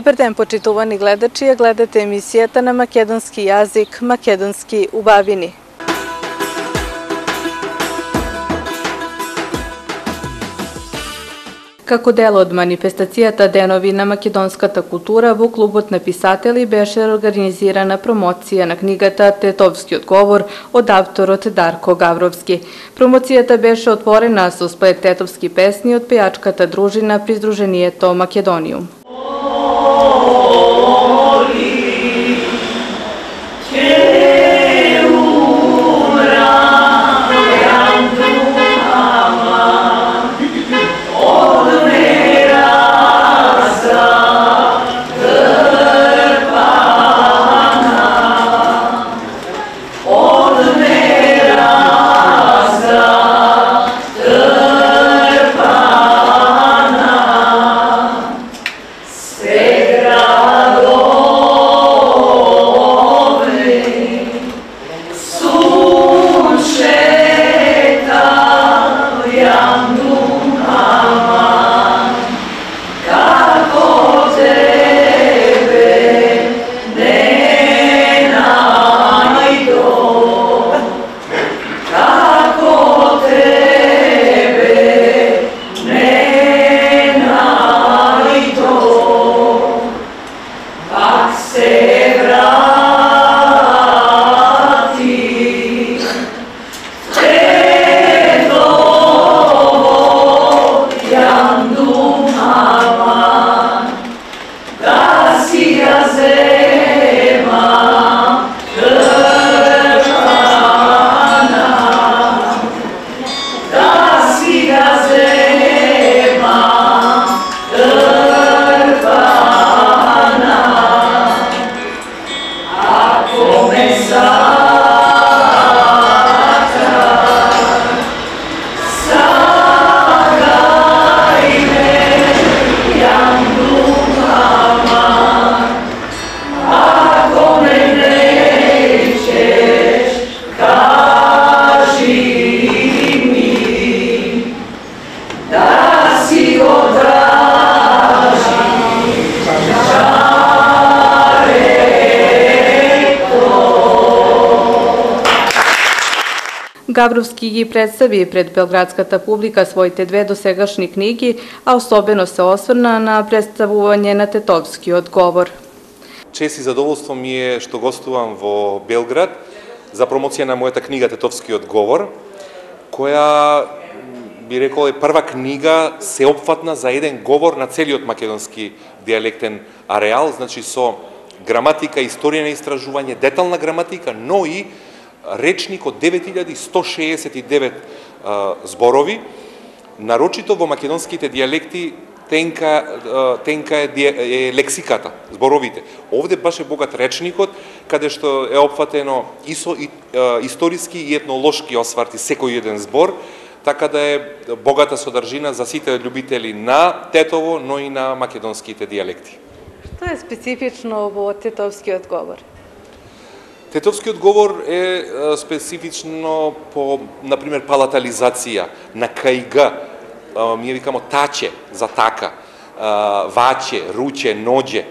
Добар ден, почитувани гледачи, ја гледате емисијата на македонски јазик Македонски убавини. Како дел од манифестацијата Денови на македонската култура, во клубот на писатели беше организирана промоција на книгата Тетовскиот говор од авторот Дарко Гавровски. Промоцијата беше отворена со сплет тетовски песни од пејачката дружина при Сдруженијето Македониум. Гавровски ги представи пред белградската публика своите две досегашни книги, а особено се осврна на представување на Тетовскиот говор. Чест и задоволство ми е што гостувам во Белград за промоција на мојата книга Тетовскиот говор, која би рекол е прва книга сеопфатна за еден говор на целиот македонски дијалектен ареал, значи со граматика, историја на истражување, детална граматика, но и речник од 9169 зборови, нарочито во македонските дијалекти тенка е лексиката, зборовите. Овде баш е богат речникот, каде што е опфатено и со историски и етнолошки осварти секој еден збор, така да е богата содржина за сите љубители на Тетово, но и на македонските дијалекти. Што е специфично во Тетовскиот говор? Тетовскиот говор е специфично по, например, палатализација на кајга, ние викамо таче за така, ваче, руче, ноđe,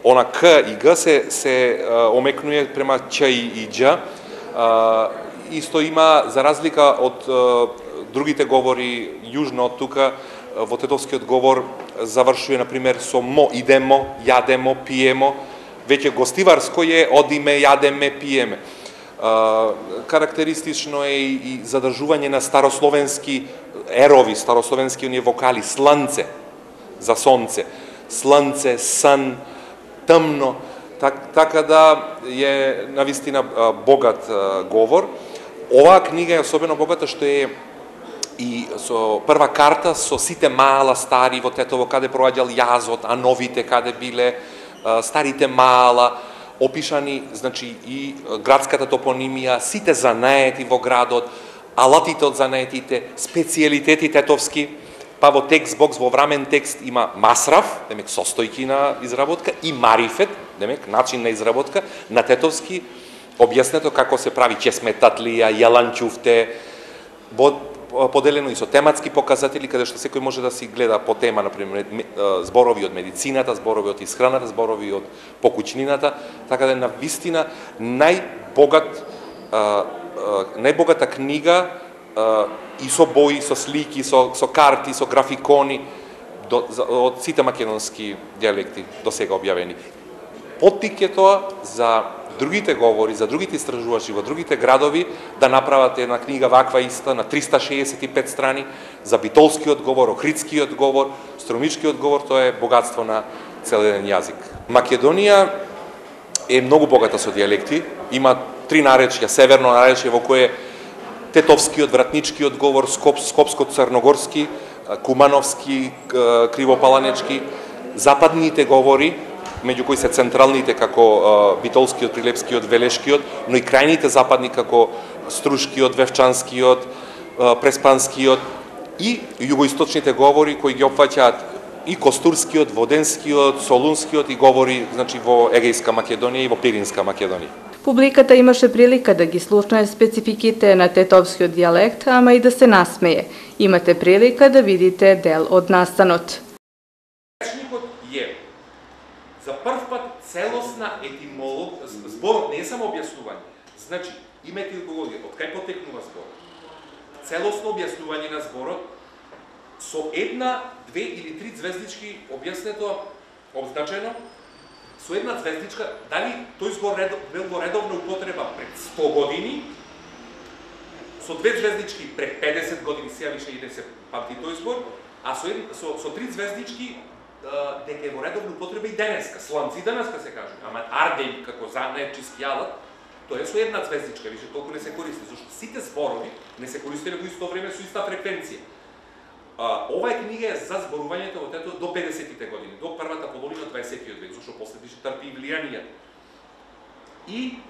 она к и г се омекнуе према ч и дж. Исто има, за разлика од другите говори јужно од тука, во Тетовскиот говор завршува, например, со мо, идемо, јадемо, пиемо, веќе гостиварско е одиме, јадеме, пиеме. Карактеристично е и задржување на старословенски ерови, старословенски оние вокали, сланце за сонце, сланце, сан, тмно, така да е навистина богат говор. Оваа книга е особено богата што е и со прва карта со сите мала стари во Тетово, каде проаѓал јазот, а новите каде биле, старите мала, опишани, значи, и градската топонимија, сите занаети во градот, алатите од занаетите, специјалитети тетовски, па во текст бокс, во врамен текст има масраф, демек состојки на изработка, и марифет, демек начин на изработка, на тетовски, објаснето како се прави чесметатлија, јаланчуфте, во поделено и со тематски показатели, каде што секој може да си гледа по тема, например, зборови од медицината, зборови од исхраната, зборови од покуќнината, така да е навистина најбогата книга и со бои, со слики, со карти, со графикони од сите македонски дијалекти до сега објавени. Поттик е тоа за другите говори, за другите истражувачи во другите градови да направат една книга ваква иста на 365 страни за битолскиот говор, охридскиот говор, стромичкиот говор, тоа е богатство на цел еден јазик. Македонија е многу богата со дијалекти, има 3 наречја, северно наречје во кое тетовскиот, вратничкиот говор, скопско-црногорски, кумановски, кривопаланечки, западните говори, меѓу кои се централните како битолскиот, прилепскиот, велешкиот, но и крајните западни како струшкиот, вевчанскиот, преспанскиот и југоисточните говори кои ги опфаќаат и костурскиот, воденскиот, солунскиот и говори, значи во Егејска Македонија и во Пиринска Македонија. Публиката имаше прилика да ги слушне спецификите на тетовскиот дијалект, ама и да се насмее. Имате прилика да видите дел од настанот. Речникот е за прв пат целосна етимолог, зборот не е само објаснување. Значи, има етимологија, од кај потекнува зборот. Целосно објаснување на зборот со една, две или три звездички објаснето, обзначено, со една звездичка, дали тој збор бил во редовна употреба пред 100 години, со две звездички пред 50 години, сега више и не се памти тој збор, а со три звездички дека е во редовна употреба и денеска, сланци денеска се кажува, ама ардеј како занечиски алат, тоа е со една звездичка, више толку не се користи, зашто сите зборови не се користеле во исто време со иста фреквенција. Оваа книга е за зборувањето во тето до 50-тите години, до првата половина од 20-тиот век, зашто после више трпи и влијанијата. И,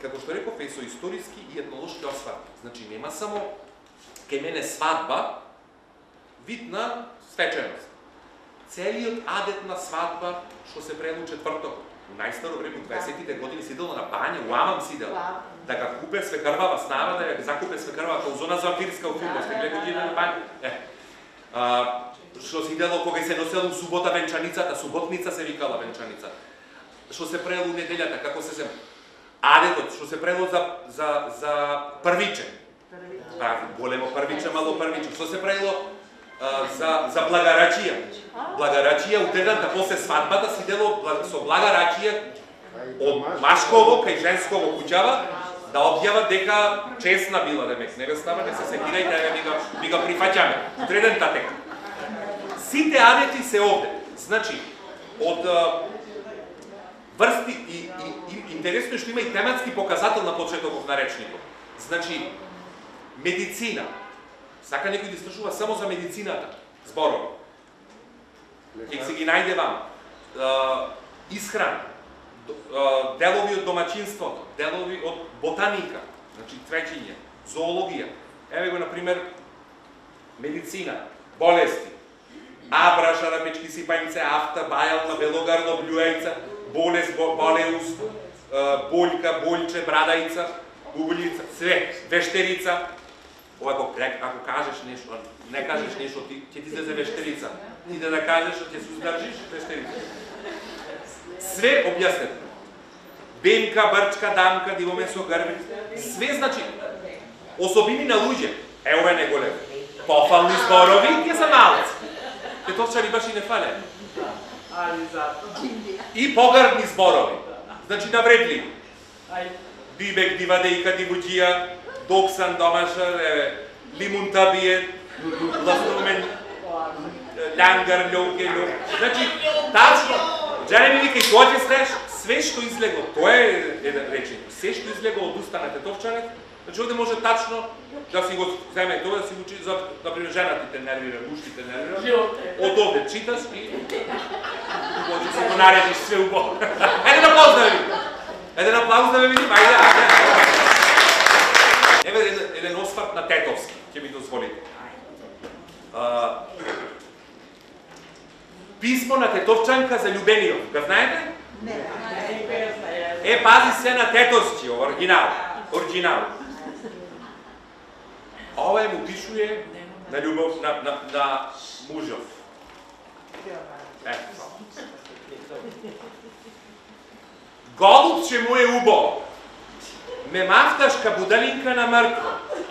како што реков, е со историски и етнолошки осврт. Значи, нема само кај мене свадба, вид на свеченост. Целиот адет на свадба, што се правело четврток, најстаро време, 20-тите години сидело на бања, уамам сидел, да га купе свекрвава снава, да ја закупе свекрвава каузона зампирска у футбол, сте гледајќи на бања. Што сидело кога се носело субота венчаницата, суботница се викала венчаница. Што се правело неделјата, како се зем. Адетот, што се правело за првиче. Големо првиче, мало првиче. Што се правело за благарачија. Благарачија утредната после свадбата сидело со благарачија од машково кај женсково куќава да објават дека честна била демек невестава, не се секирајте, ми го прифаќаме. Утредната тека. Сите адети се овде. Значи, од врсти и интересно е што има и тематски показател на почетокот на речникот. Значи, медицина. Сака некој да истражува само за медицината, зборови. Ќе се ги најде вам. Исхрана, делови од домаќинството, делови од ботаника, значи цвеќиње, зоологија. Еве го, например, медицина, болести, абра, шарапечки, сипањце, афта, бајална, белогарло, блјуејца, болест, болеус, бољка, бољче, брадајца, бублица, све, вештерица. Ако кажеш нешто, не кажеш нешто, ќе ти излезе вештерица. Ти да кажеш, ќе се уздржиш, вештерица. Све објаснето. Бемка, брчка, дамка, дивоме со грби. Све значи особини на луѓе. Ова не голем. Пофални зборови, ќе се малци. Тетовчари баш и не фале. И погрбни зборови. Значи навредливи. Дибек, дивадејка, дивуџија, доксан, домашар, лимун табиет, ластумен, љангар, љоке, љок. Значи, тачно, джаре ми вика и доđe стеш, све што излегло, тоа е еден речник, све што излегло од уста на тетовчарот, значи овде може тачно да си го земе тоа, да си учи за, например, жената те нервира, мушките нервира, од овде читаш и може си го наредиш све убаво. Еде да поздрави! Еден аплауз да ме видим, ајде. Еве еден осврт на тетовски, ќе ми дозволите. Писмо на тетовчанка за љубениот, го знаете? Не. Пази се на тетовски, оригинал. Ова му пишуе на љубов на мужов. Голубче му е убо, ме мафташ ка будалинка на мртво,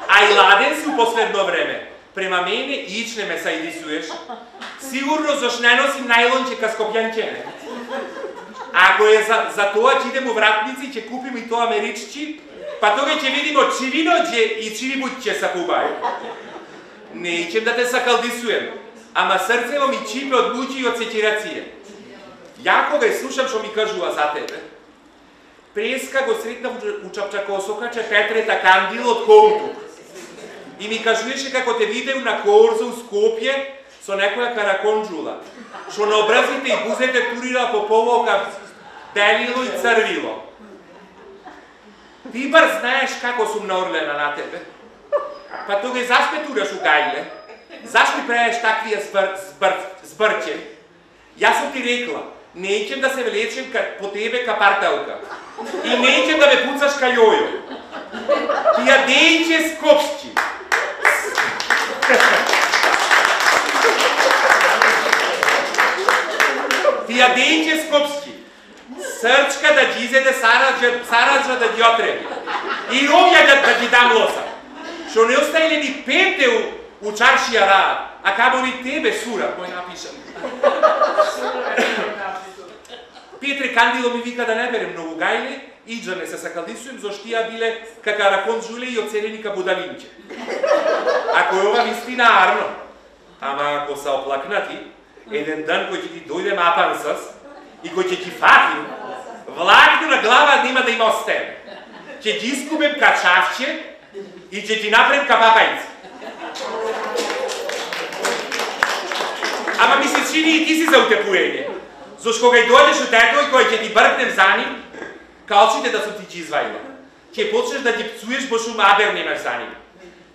а и ладен си у последно време. Према мене ич не ме сајдисуеш. Сигурно заш не носим најлонче ка скопјанчене. Ако е за тоа ќе идем у вратници, ќе купим и тоа мериччи, па тога ќе видимо чивиноđe и чивибуќе са кубају. Не ичем да те сакалдисуем, ама срцево ми чипе од муки и од сеќирација. Ја кога слушам што ми кажува за тебе, преска го сретнав у Чапчакосока, че Петрета Кандил од Коутук. И ми кажуеше како те видеу на корза у Скопје со некоја караконджула, што на образите и бузете турира по повока белило и црвило. Ти бар знаеш како сум наорлена на тебе. Па тога и заш ме тураш у гајле? Заш ми правиш таквија збрче? Јас сум ти рекла, не ичем да се влечем по тебе ка парталка. И не ичем да ме пуцаш ка јојо. Ти ја дејче скопски. Ти ја дејче скопски. Срчка да ги изеде сараджа да ги отреби. И овја да ги дам лоса. Што не остајле ни пете у чаршија раат, а камо ни тебе, сура, кој напишам. Петре Кандило ми вика да не берем многу гајле, иđа не се сакалдисуем, зашто тија биле ка караконджуле и оценени ка будалинче. Ако е ова вистина арно, ама ако са оплакнати, еден дан кој ќе ти дојде мапансас и кој ќе ти фати, влакну на глава нема да има остен. Ќе ги искубем ка чавче и ќе ти напрем ка папајци. Ама ми се чини и ти си за утепуење. Зашто кога и дојдеш у тето и кој ќе ти бркнем за ним, калчите да сум ти ги извајла. Ќе почнеш да ги пцуеш, бо шум абер немаш за ним.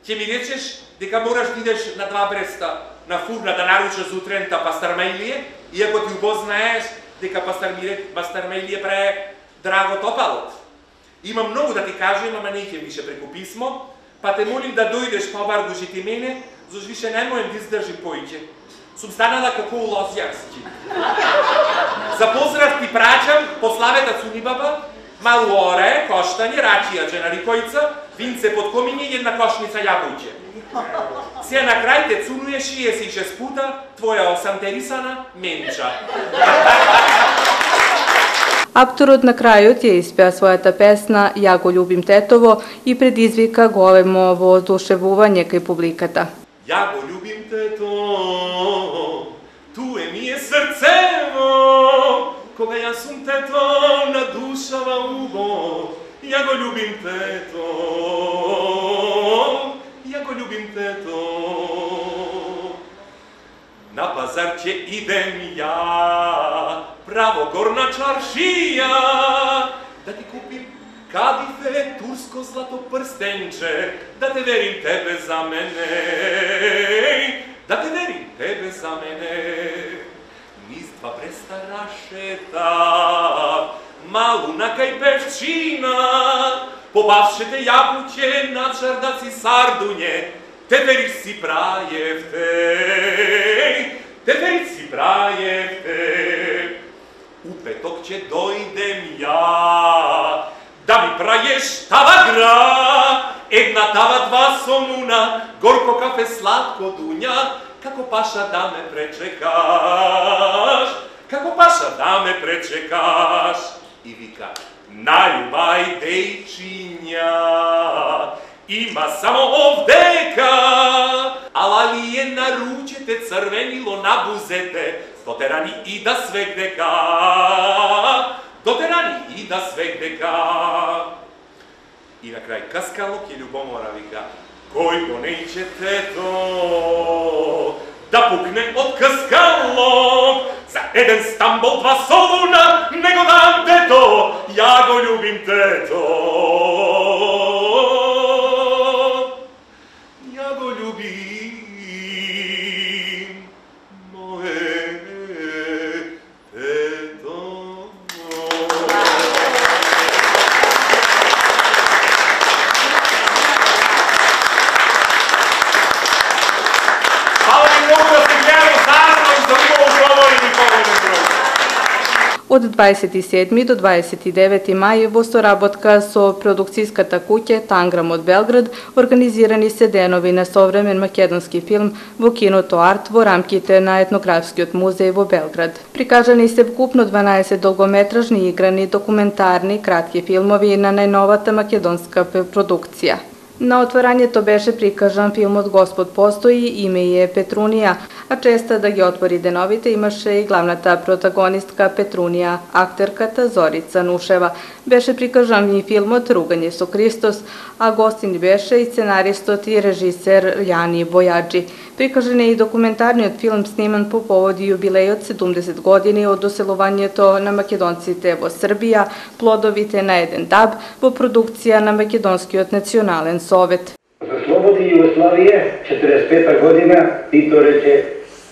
Ќе ми речеш дека мораш да идеш на 2 бреста на фурна да наручаш утрента пастармајлие, иако ти убо знаеш дека пастармајлие праe драго топалот. Има многу да ти кажем, ама не ќе више преку писмо, па те молим да дојдеш па обаргуши ти мене, зашто више не можем да издржим поиќе. Сум станала како у Лозјарски. За поздрав ти праќам пославета Цунибаба, малу оре, коштање, рачија, рикојца, винце под комиње и една кошница јабуќе. Се на крај те цунуе 66 пута твоја осамтерисана менча. Авторот на крајот ја испеа својата песна "Ја го љубим тетово" и предизвика големо воодушевување кај публиката. Ја го љубим тето, туе ми е срцево, кога јас сум тето на душава убо. Ја го љубим тето, ја го љубим тето. На пазар ќе идем ја, право горна чаршија, да ти купим кадифе, турско злато прстенче, да те верим тебе за мене, да те верим тебе за мене. Низ 2 бреста рашета, малу на кај певчина, побавшете јабуќе на чардаци сардуње, тепериш си прајевте, тепериш си прајевте. У петок ќе дојдем ја, да ми прајеш тавагра, една тава 2 сомуна, горко кафе, сладко дуња, како паша да ме пречекаш, како паша да ме пречекаш. И вика, наљубај дејчиња, има само овдека, ала ли е на ручете црвенило на бузете, дотерани и да свегдека, дотерани и да свегдека. И на крај каскалок и љубомора вика, кој го нејче тето, да пукне од каскалок, за еден стамбол 2 солуна, не го дам тето, ја го љубим тето. Ја го љубим, мое тето. Од 27. до 29. мај во соработка со продукцијската куќа Танграм од Белград организирани се денови на современ македонски филм во киното Арт во рамките на Етнографскиот музеј во Белград. Прикажани се вкупно 12 долгометражни играни, документарни, кратки филмови на најновата македонска продукција. На отворањето беше прикажан филмот Господ постои, име е Петрунија, а честа да ги отвори деновите имаше и главната протагонистка Петрунија, актерката Зорица Нушева. Беше прикажан и филмот Ругање со Христос, а гостин беше и сценаристот и режисер Јани Бојаджи. Прикажан е и документарниот филм сниман по повод јубилејот 70 години од доселувањето на македонците во Србија, плодовите на еден даб во продукција на Македонскиот национален совет. За слободи Југославија, 45 година, Тито рече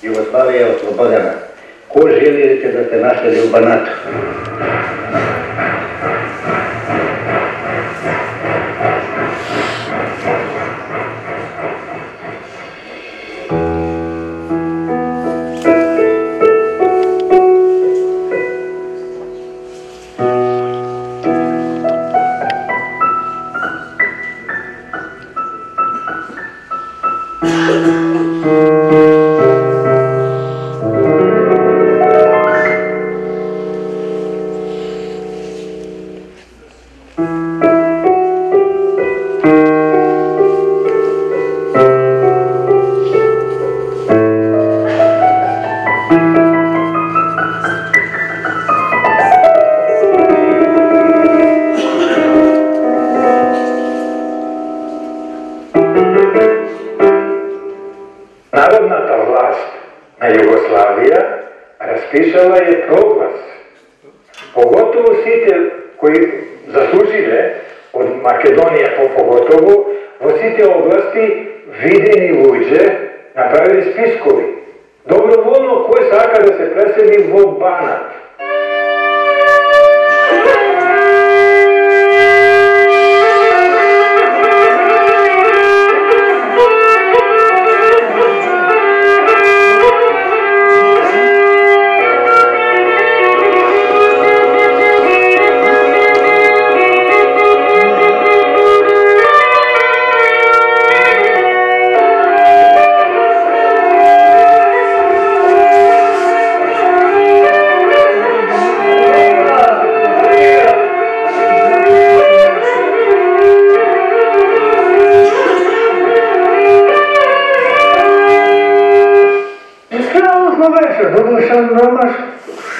Југославија е ослободена. Ко желите да се наследи у Банату? Народната власт на Југославија распишала е проглас. Поготово сите кои заслужиле од Македонија поготово во сите области видени луѓе направили спискови. Доброволно кој сака да се пресели во Банат.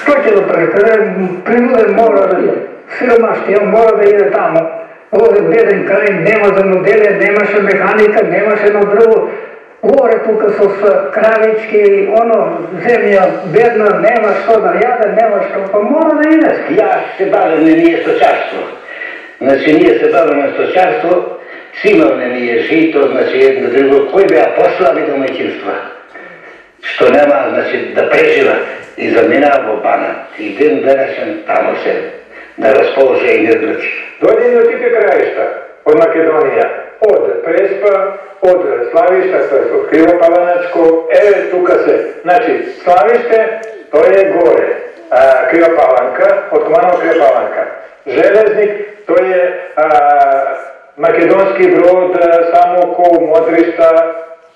Што ќе да прави? Принуден мора да иде. Сиромашниот мора да иде тамо. Овде беден крај, нема земјоделие, немаше механика, немаше на дрво. Горе тука со кравички, земја бедна, нема што да јаде, нема што, па мора да иде. Јас се бавам на ние сточарство. Значи, ние се баваме сточарство, цимавне ние жито, значи, едно друго, кој беа послаби домаќинства. Што нема, значи, да прежива и заминава во Банат. И ден денешен тамо се да расположи и нердуци. Дојдени од тите краишта, од Македонија, од Преспа, од Славишта, од Кривопаланачко, тука се. Значи, Славиште, тој е горе. Кривопаланка, од Куманово Кривопаланка. Железник, тој е македонски брод, Самокол, Модришта,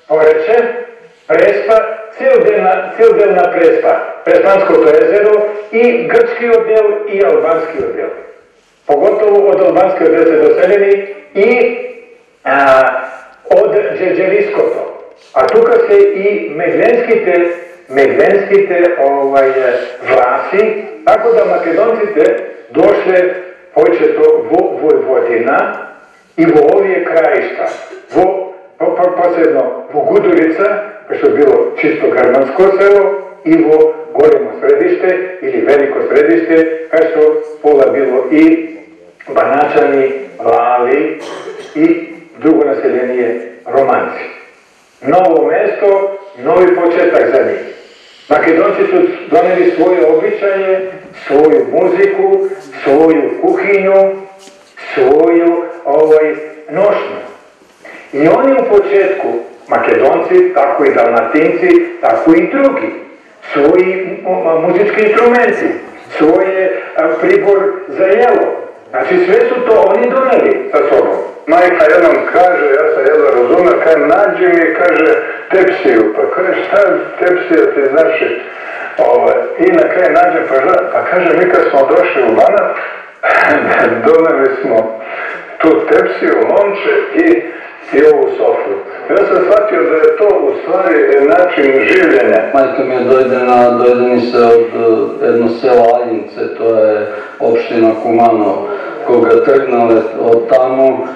Порече, Преспа, цел дел на Преспа, Преспанското езеро и грчкиот дел и албанскиот дел. Поготово од албанскиот дел се доселени и од Джерджевиското. А тука се и мегленските власи, така да македонците дошле повеќето во Војводина и во овие краишта, посебно во Гудурица, што било чисто германско село, и во големо средиште или велико средиште, кај што пола било и баначани, лави и друго население романци. Ново место, нови почеток за нив. Македонци су донели своје обичаје, своју музику, своју кухињу, своју ношну. И они у почетку, македонци, тако и далматинци, тако и други, своји музички инструменти, своje pribor za jelo. Znači sve su to oni doneli sa sobom. Majka jednom kaže, ja sam jedno razumio, kaže nađi mi, kaže tepsiju, pa kaže šta tepsija ti znači? I na kraju nađem, pa kaže mi kad smo došli u Banat, doneli smo tu tepsiju, lonče i ovu sofru. Ja sam shvatio da je to u stvari način življenja. Majka mi je dojdeni se od jedno selo Aljince, to je opština Kumano, koga trgnale od tamo,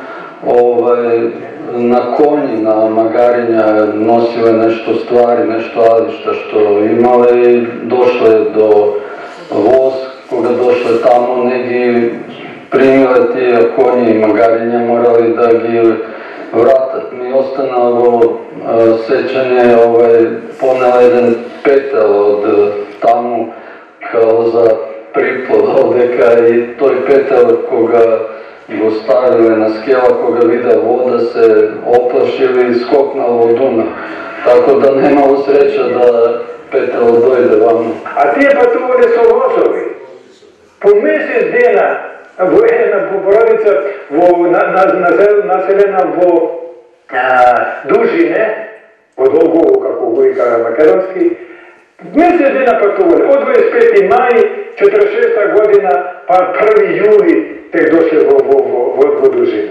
na konji, na magarinja nosile nešto stvari, nešto ališta što imale i došle do voz, koga došle tamo, neki primile ti konji i magarinja, morali da gi vratat. Mi ostanalo sećanje, ponela jedan petel od tamo kao za priplod ovdeka i toj petel koga go stavile na skela, koga vide voda se oplašili i skoknalo u Dunav. Tako da nemalo sreća da petel dojde vamo. A tije patrulje su vozovi. Po mjesec dana jedna porodica naseljena vo dužine, od Ogovu, kako govi kada makedonski, mjesec dana patrulje, od 25. maj, 46. godina, pa 1. juli, tek došli vo dužine.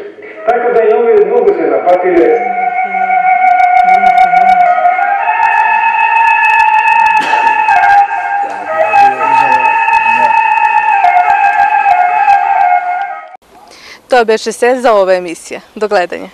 Tako da i ovi mogu se napatili. To беше се за ова емисија. До гледање.